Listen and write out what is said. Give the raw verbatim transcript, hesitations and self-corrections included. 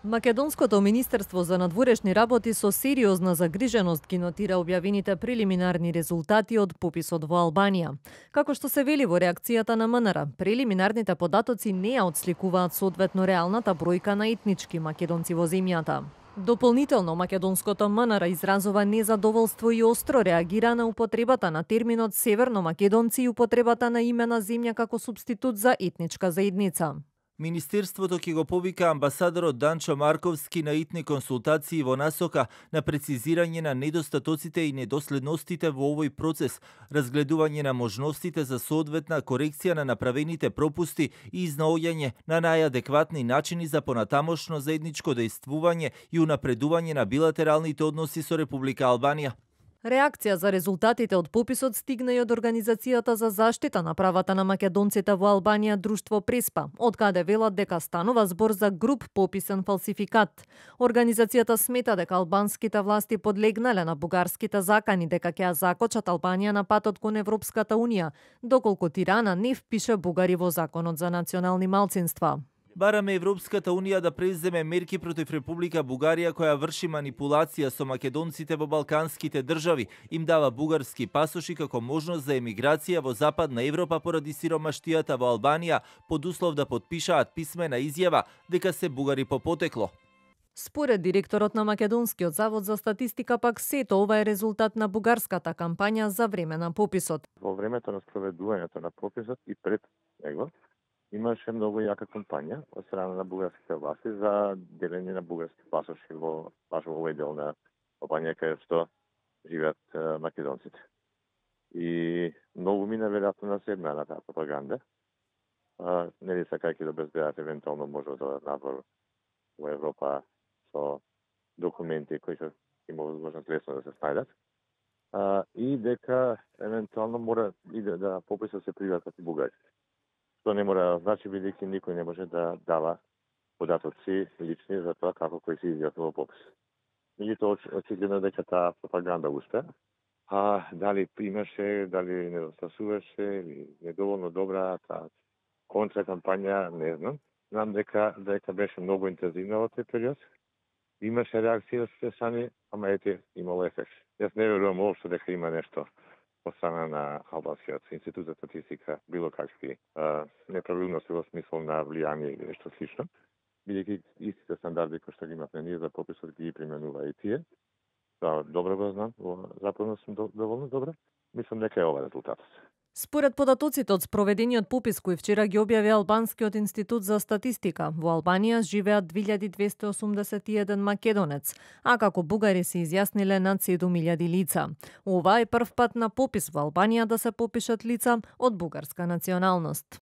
Македонското министерство за надворешни работи со сериозна загриженост ги нотира објавените прелиминарни резултати од пописот во Албанија. Како што се вели во реакцијата на МНР, прелиминарните податоци не ја отсликуваат соодветно реалната бројка на етнички македонци во земјата. Дополнително, македонското МНР изразува незадоволство и остро реагира на употребата на терминот северно македонци и употребата на име на земја како субститут за етничка заедница. Министерството ќе го повика амбасадорот Данчо Марковски на итни консултации во насока на прецизирање на недостатоците и недоследностите во овој процес, разгледување на можностите за соодветна корекција на направените пропусти и изнаоѓање на најадекватни начини за понатамошно заедничко дејствување и унапредување на билатералните односи со Република Албанија. Реакција за резултатите од пописот стигна и од Организацијата за заштита на правата на македонците во Албанија Друштво Преспа, од каде велат дека станува збор за груб пописен фалсификат. Организацијата смета дека албанските власти подлегнале на бугарските закани дека ќе ја закочат Албанија на патот кон Европската унија, доколку Тирана не впише бугари во Законот за национални малцинства. Бараме Европската унија да преземе мерки против Република Бугарија која врши манипулација со македонците во балканските држави, им дава бугарски пасоши како можност за емиграција во Западна Европа поради сиромаштијата во Албанија, под услов да потпишаат писмена изјава дека се бугари по потекло. Според директорот на Македонскиот завод за статистика пак сето ова е резултат на бугарската кампања за време на пописот. Во времето на спроведувањето на пописот и пред него имаше многу јака кампања од страна на бугарските власти за делење на бугарски пасоши во баш во овој дел на Албанија каде што живеат македонците. И многу мина веројатно на седна на таа пропаганда. А, нели сакајќи да обезбедат евентуално може да надвор во Европа со документи кои што има возможност лесно да се снајдат. А, и дека евентуално мора и да, да пописот се приватат и бугари. Тоа не мора да значи, бидејќи никој не може да дава податоци лични за тоа како кој се изјавува во попис. Меѓутоа, очигледно дека таа пропаганда успеа, а дали имаше, дали недостасуваше или недоволно добра таа контра кампања, не знам. Знам дека дека беше многу интензивна во тој период. Имаше реакција од страни, ама ете имало ефект. Јас не верувам уопшто дека има нешто од страна на Албанскиот институт за статистика, било какви а, неправилности во смисол на влијание или нешто слично, бидејќи истите стандарди кои што ги имавме ние за пописот ги применува и тие. Тоа добро го знам, западно сум доволно добро. Мислам дека е ова резултатот. Според податоците од спроведениот попис кој вчера ги објави Албанскиот институт за статистика, во Албанија живеат две илјади двесте осумдесет и еден македонец, а како бугари се изјасниле над седум илјади лица. Ова е прв пат на попис во Албанија да се попишат лица од бугарска националност.